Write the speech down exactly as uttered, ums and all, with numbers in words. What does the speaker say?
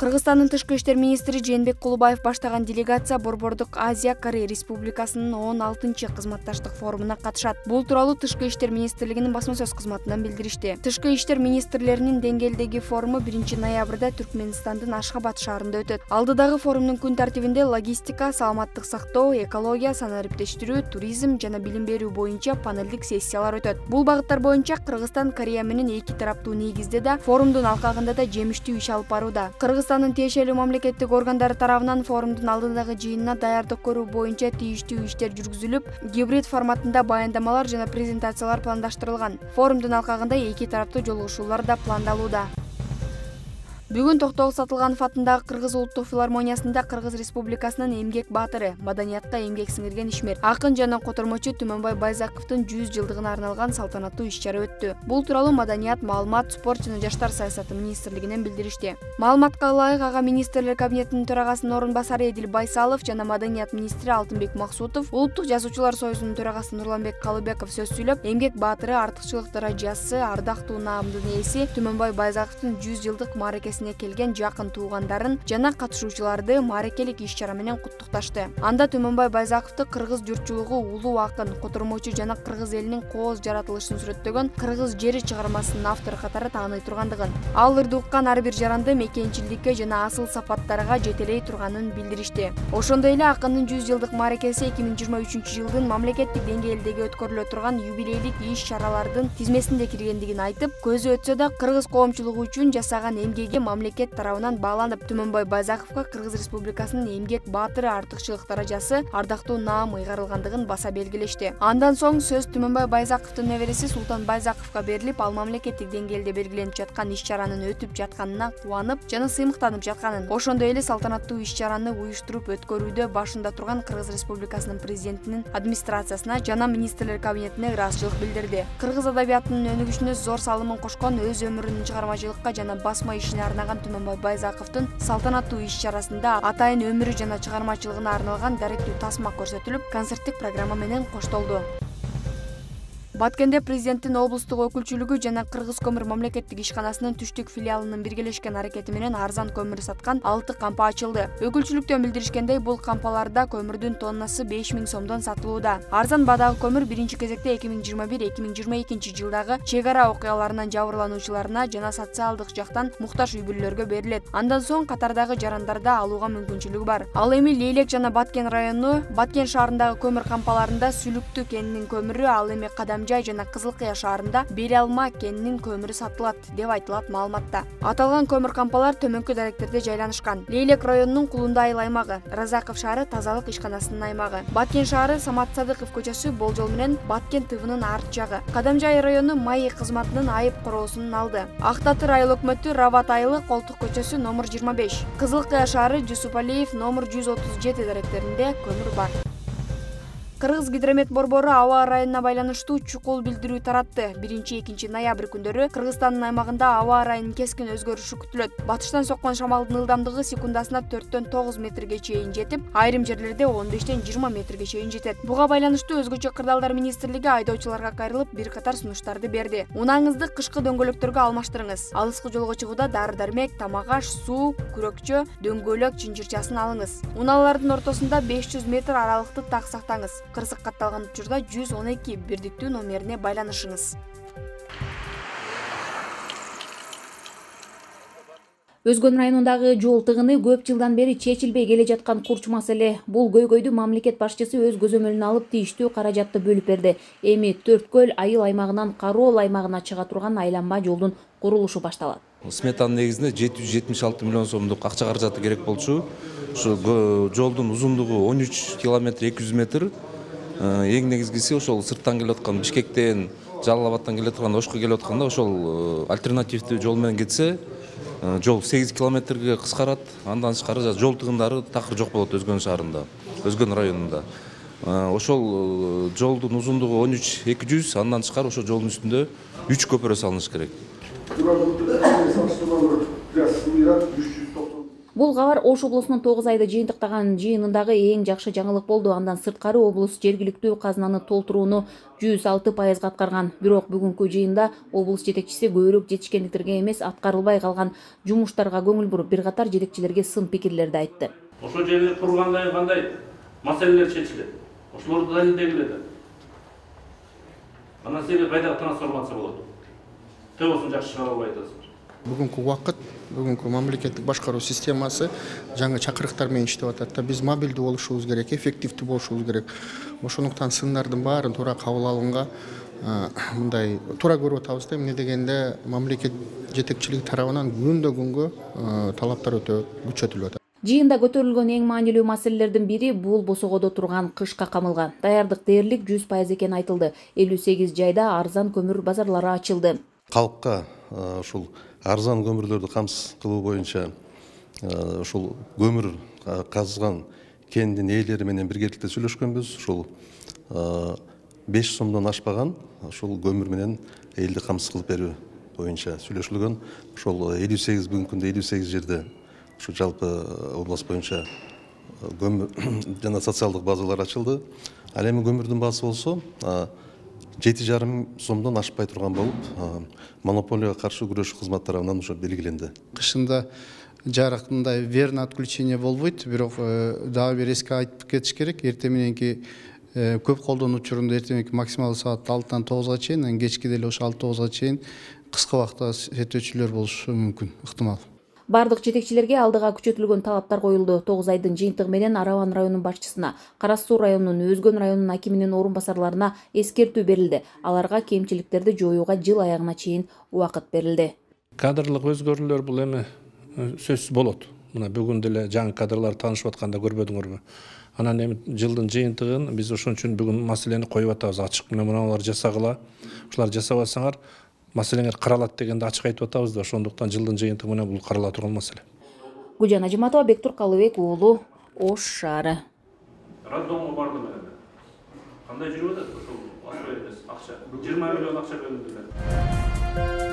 Кыргызстандын тышкы иштер министри Жээнбек Кулубаев баштаган делегация Борбордук Азия Корея Республикасынын он алтынчы кызматташтык форумуна катышат. Бул тууралуу Тышкы иштер министрлигинин басма сөз кызматынан билдиришти. Тышкы иштер министрлеринин деңгээлдеги форуму биринчи ноябрда Түркмөнстандын Ашхабад шаарында өтөт. Алдыдагы форумдун күн тартибинде логистика, саламаттык сактоо, экология, санариптештирүү, туризм жана билим берүү боюнча панелдик сессиялар өтөт. Бул багыттар боюнча Кыргызстан Корея менен эки тараптуу негизде да форумдун алкагында да жемиштүү иш алып барууда. Кыргызстандын тиешелүү мамлекеттик органдары тарабынан форумдун алдындагы жыйынына даярдык көрүү боюнча тийиштүү иштер жүргүзүлүп, гибрид форматында баяндамалар жана презентациялар пландаштырылган. Форумдун алкагында эки тараптуу жолугушуулар да пландалууда. Бүгүн Токтогул Сатылганов атындагы Кыргыз улуттук филармониясында Кыргыз Республикасынын эмгек баатыры, маданиятка эмгек сиңирген ишмер, акын жана котормочу Түмөнбай Байзаковдун жүз жылдыгына арналган салтанаттуу иш-чара өттү. Бул тууралуу Маданият, маалымат, спорт жана жаштар саясаты министрлигинен билдиришти. Маалыматка ылайык ага министрлер кабинетинин төрагасынын орун басары Эдил Байсалов жана Маданият министри Алтынбек Максутов, Улуттук жазуучулар союзунун төрагасы Нурланбек Калыбеков сөз сүйлөп, эмгек баатыры, артыкчылык даражасы, ардактуу наамдын ээси Түмөнбай Байзаковдун жүз жылдык мааракесине келген жакын туугандарын жана катышуучуларды мааракелик иш-чара менен куттукташты. Анда Түмөнбай Байзаковду кыргыз журтчулугу улуу акын, котормочу жана кыргыз элинин кооз жаратылышын сүрөттөгөн Кыргыз жери чыгармасынын автору катары тааный тургандыгын, ал ырды уккан ар бир жаранды мекенчилдикке жана асыл сапаттарга жетелей турганын билдиришти. Ошондой эле акындын жүз жылдык мааракеси эки миң жыйырма үчүнчү жылдын мамлекеттик деңгээлдеги өткөрүлө турган юбилейлик иш-чаралардын тизмесинде киргендигин айтып, көзү өтсө да кыргыз коомчулугу үчүн жасаган эмгеги мамлекет тарабынан бааланып, Түмөнбай Байзаковго Кыргыз Республикасынын эмгек баатыры артыкчылык даражасы, ардактуу наам ыйгарылгандыгын баса белгилешти. Андан соң сөз Түмөнбай Байзаковдун небереси Султан Байзаковго берилип, ал мамлекеттик деңгээлде белгиленип жаткан иш-чаранын өтүп жатканына кубанып жана сыймыктанып жатканын, ошондой эле салтанаттуу иш-чараны уюштуруп өткөрүүдө башында турган Кыргыз Республикасынын президентинин администрациясына жана министрлер кабинетине ыраазычылык билдирди. Кыргыз адабиятынын өнүгүшүнө зор салымын кошкон, өз өмүрүнүн чыгармачылыкка жана басма ишине арнаган Түмөнбай Байзаковдун салтанаттуу иш-чарасында атайын өмүрү жана чыгармачылыгына арналган даректүү тасма көрсөтүлүп, концерттик программа менен коштолду. Баткенде президенттин облустук өкүлчүлүгү жана Кыргыз көмүр мамлекеттик ишканасынын түштүк филиалынын биргелешкен аракети менен арзан көмүр саткан алты кампа ачылды. Өкүлчүлүктөн билдиришкендей, бул кампаларда көмүрдүн тоннасы беш миң сомдон сатылууда. Арзан баадагы көмүр биринчи кезекте эки миң жыйырма бир эки миң жыйырма экинчи жылдагы чек ара окуяларынан жабырлануучуларына жана социалдык жактан муктаж үй бүлөлөргө берилет. Андан соң катардагы жарандарда алууга мүмкүнчүлүгү бар. Ал эми Лейлек жана Баткен району, Баткен шаарындагы көмүр кампаларында Сүлүктү кенинин көмүрү, ал эми Кадам Жай жана Кызыл Кыя шаарында Бери Алма кенинин көмүрү сатылат деп айтылат маалыматта. Аталган көмүр кампалар төмөнкү даректерде жайланышкан. Лейлек районунун Кулунда айыл аймагы, Разаков шаары тазалык ишканасынын аймагы, Баткен шаары Самат Садыков көчөсү болжол менен Баткен тыбынын арт жагы, Кадам Жай району Маи кызматынын айып короосунун алды. Ак Татыр айыл өкмөтү Рават айылы Колтук көчөсү номер жыйырма беш, Кызыл Кыя шаары Жусупалиев номер жүз отуз жети даректеринде көмүр бар. Кыргыз гидромет борбору аба ырайына байланыштуу чукул билдирүү таратты. биринчи-экинчи ноябрь күндөрү Кыргызстандын аймагында аба ырайынын кескин өзгөрүшү күтүлөт. Батыштан соккон шамалдын ылдамдыгы секундасына төрттөн тогуз метрге чейин жетип, айрым жерлерде он бештен жыйырма метрге чейин жетет. Буга байланыштуу өзгөчө кырдаалдар министрлиги айдоочуларга кайрылып бир катар сунуштарды берди. Унааңызды кышкы дөңгөлөктөргө алмаштырыңыз. Алыскы жолго чыгууда дары-дармек, тамак-аш, суу, күрөкчө, дөңгөлөк чынжырчасын алыңыз. Унаалардын ортосунда беш жүз метр аралыкты так сактаңыз. Кырсык катталган учурда жүз он эки бирдиктүү номерине байланышыңыз. Өзгөн районундагы жол тыгыны көп жылдан бери чечилбей келе жаткан курч маселе. Бул көйгөйдү мамлекет башчысы өз көзөмөлүнө алып тийиштүү каражатты бөлүп берди. Эми Төрт көл айыл аймагынан Кароол аймагына чыга турган айланма жолдун курулушу башталат. Сметанын негизинде жети жүз жетимиш алты миллион сомдук акча каражаты керек болчу. Ушу жолдун узундугу он үч километр эки жүз метр. Эң негизгиси ошол сырттан келип аткан Бишкектен, Жалал Абадтан келип аткан, Ошко келип атканда ошол альтернативдүү жол менен кетсе, жол сегиз километрге кыскарат. Андан тышкары жол тыгындары такыр жок болот Өзгөн шаарында, Өзгөн районунда. Ошол жолдун узундугу он үч эки жүз, андан тышкары ошол жолдун үстүндө үч көпүрө салыныш керек. Бул кабар Ош облусунун тогуз айда жыйынтыктаган жыйынындагы эң жакшы жаңылык болду. Андан сырткары облус жергиликтүү казынаны толтурууну жүз алты пайызга аткарган. Бирок бүгүнкү жыйында облус жетекчиси көбүрөөк жетишкендиктерге эмес, аткарылбай калган жумуштарга көңүл буруп, бир катар жетекчилерге сын пикирлерди айтты. Ошол жерде кургандай кандай маселелер чечилет. Ошолорду далилдегиле да. Анан силерге кайдагы трансформация болот. Төбөсүн жакшы чыгара албай атасыздар. Бүгүнкү убакыт, бүгүнкү мамлекеттик башкаруу системасы жаңы чакырыктар менен иштеп атат да. Биз мобилдүү болушубуз керек, эффективдүү болушубуз керек. Ошондуктан сындардын баарын туура кабыл алганга мындай туура көрүп атабыз да. Эмне дегенде мамлекет жетекчилиги тарабынан күндө күнгө талаптар өтө күчөтүлүп атат. Жыйында көтөрүлгөн эң маанилүү маселелердин бири бул босогодо турган кышка камылга. Даярдык дээрлик жүз пайыз экени айтылды. элүү сегиз жайда арзан көмүр базарлары ачылды. Калкка ушул арзан көмүрлөрдү камсыз кылуу боюнча ушул көмүр казган кендин ээлери менен биргеликте сүйлөшкөнбүз. Ушул беш сомдон ашпаган ушул көмүр менен элди камсыз кылып берүү боюнча сүйлөшүлгөн. Ошол элүү сегиз бүгүнкү күндө элүү сегиз жерде ушу жалпы область боюнча көмүр жана социалдык базалар ачылды. Ал эми көмүрдүн баасы болсо жети жарым сомдон ашпай турган болуп, монополияга каршы күрөшүү кызматы тарабынан ушу белгиленди. Кышында жарык мындай верный отключение болбойт, бирок дагы бир эске айтып кетиш керек. Эртең мененки көп колдонуу учурунда эртең мененки максималдуу саат алтыдан тогузга чейин, анан кечки деле ошо алты тогузга чейин кыска убакытта сетөөчүлөр болушу мүмкүн, ыктымал. Бардык жетекчилерге алдыга күчөтүлгөн талаптар коюлду. тогуз айдын жыйынтыгы менен Арабан районунун башчысына, Кара Суу районунун, Өзгөн районунун акиминин орун басарларына эскертүү берилди. Аларга кемчиликтерди жоюуга жыл аягына чейин убакыт берилди. Кадрлык өзгөрүүлөр бул эми сөзсүз болот. Мына бүгүн деле жаңы кадрлар таанышып атканда көрбөдүңөрбү? Анан эми жылдын жыйынтыгын биз ошон үчүн бүгүн маселени коюп атабыз. Ачык менен муналар жасагыла. Ушулар жасабасаңар маселеңер каралат дегенде ачык айтып атабыз да. Ошондуктан жылдын жыйынтыгы менен бул карала турган маселе. Гүлжан Ажиматова, Бектур Калыбек уулу, Ош шаары. Роддомго бардым эле. Кандай жүрүп атат ошол акча? жыйырма миллион акча бөлүндү.